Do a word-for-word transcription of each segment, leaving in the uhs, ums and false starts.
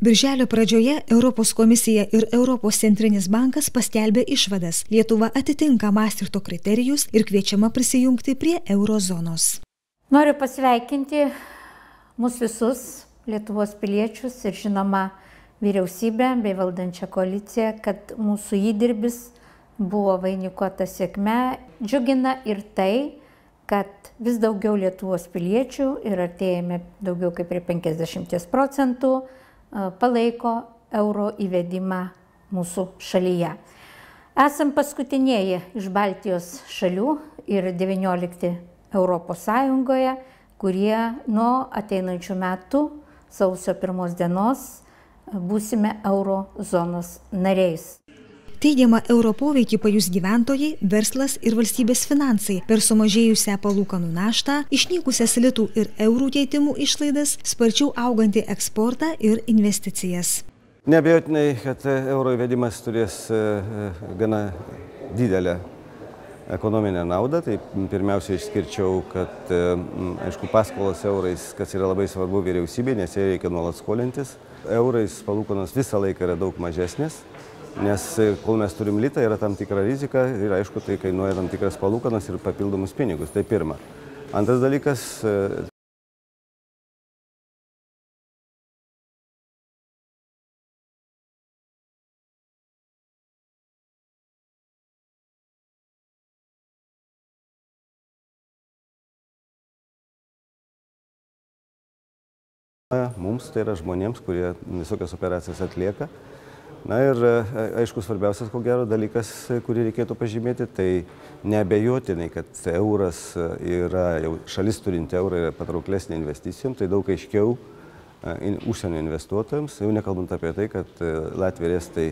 Birželio pradžioje Europos komisija ir Europos centrinis bankas paskelbė išvadas. Lietuva atitinka Maastrichto kriterijus ir kviečiama prisijungti prie eurozonos. Noriu pasveikinti mūsų visus Lietuvos piliečius ir žinoma vyriausybę bei valdančią koaliciją, kad mūsų įdirbis buvo vainikuota sėkme. Džiugina ir tai, kad vis daugiau Lietuvos piliečių ir artėjame daugiau kaip prie penkiasdešimties procentų palaiko euro įvedimą mūsų šalyje. Esam paskutinieji iš Baltijos šalių ir devyniolikti Europos Sąjungoje, kurie nuo ateinančių metų sausio pirmos dienos būsime euro zonos nariais. Teigiamą euro poveikį pajus gyventojai, verslas ir valstybės finansai per sumažėjusią palūkanų naštą, išnykusias litų ir eurų keitimų išlaidas, sparčiau augantį eksportą ir investicijas. Neabejotinai, kad euro įvedimas turės gana didelę ekonominę naudą. Tai pirmiausia išskirčiau, kad aišku, paskolos eurais, kas yra labai svarbu vyriausybė, nes jai reikia nuolat skolintis. Eurais palūkanos visą laiką yra daug mažesnės. Nes kol mes turim litą, yra tam tikra rizika ir aišku, tai kainuoja tam tikras palūkanas ir papildomus pinigus. Tai pirma. Antras dalykas. Mums, tai yra žmonėms, kurie visokias operacijas atlieka. Na ir aišku, svarbiausias, ko gero, dalykas, kurį reikėtų pažymėti, tai neabejotinai, kad euras yra, jau šalis turinti eurą yra patrauklesnė investicijom, tai daug aiškiau užsienio investuotojams, jau nekalbant apie tai, kad Latvija ir Estai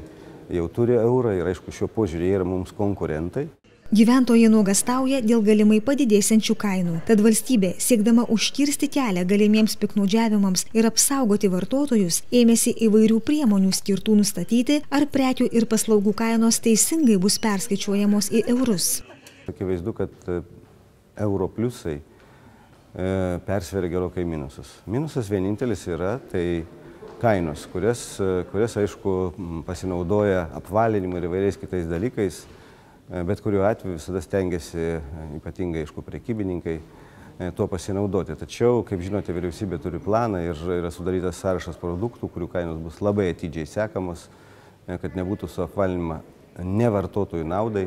jau turi eurą ir aišku, šiuo požiūrį yra mums konkurentai. Gyventojai nuogąstauja dėl galimai padidėsiančių kainų. Tad valstybė, siekdama užkirsti kelią galimiems piktnaudžiavimams ir apsaugoti vartotojus, ėmėsi įvairių priemonių skirtų nustatyti, ar prekių ir paslaugų kainos teisingai bus perskaičiuojamos į eurus. Akivaizdu, kad euro pliusai persveria gerokai minusus. Minusas vienintelis yra tai kainos, kurias, kurias aišku, pasinaudoja apvalinimu ir įvairiais kitais dalykais. Bet kuriuo atveju visada stengiasi, ypatingai, aišku, prekybininkai, tuo pasinaudoti. Tačiau, kaip žinote, vyriausybė turi planą ir yra sudarytas sąrašas produktų, kurių kainos bus labai atidžiai sekamos, kad nebūtų suapvalinima ne vartotojų naudai.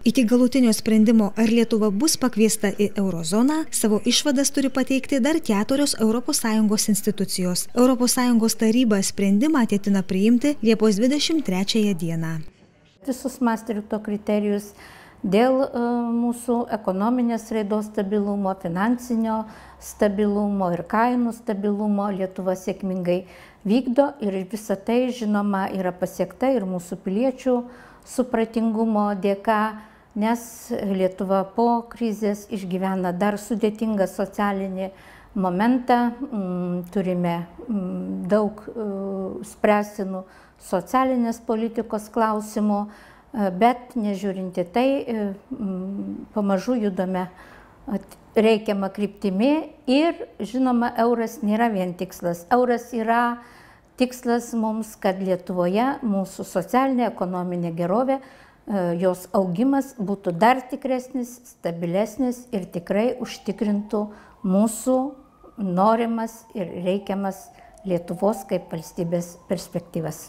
Iki galutinio sprendimo, ar Lietuva bus pakviesta į eurozoną, savo išvadas turi pateikti dar keturios Europos Sąjungos institucijos. Europos Sąjungos taryba sprendimą ketina priimti Liepos dvidešimt trečiąją dieną. Visus Maastrichto kriterijus dėl mūsų ekonominės raidos stabilumo, finansinio stabilumo ir kainų stabilumo Lietuva sėkmingai vykdo ir visa tai, žinoma, yra pasiekta ir mūsų piliečių supratingumo dėka, nes Lietuva po krizės išgyvena dar sudėtingą socialinį momentą, turime daug spręstinų socialinės politikos klausimų, bet nežiūrinti tai, pamažu judame reikiamą kryptimi ir, žinoma, euras nėra vien tikslas. Euras yra tikslas mums, kad Lietuvoje mūsų socialinė, ekonominė gerovė, jos augimas būtų dar tikresnis, stabilesnis ir tikrai užtikrintų mūsų norimas ir reikiamas Lietuvos kaip valstybės perspektyvas.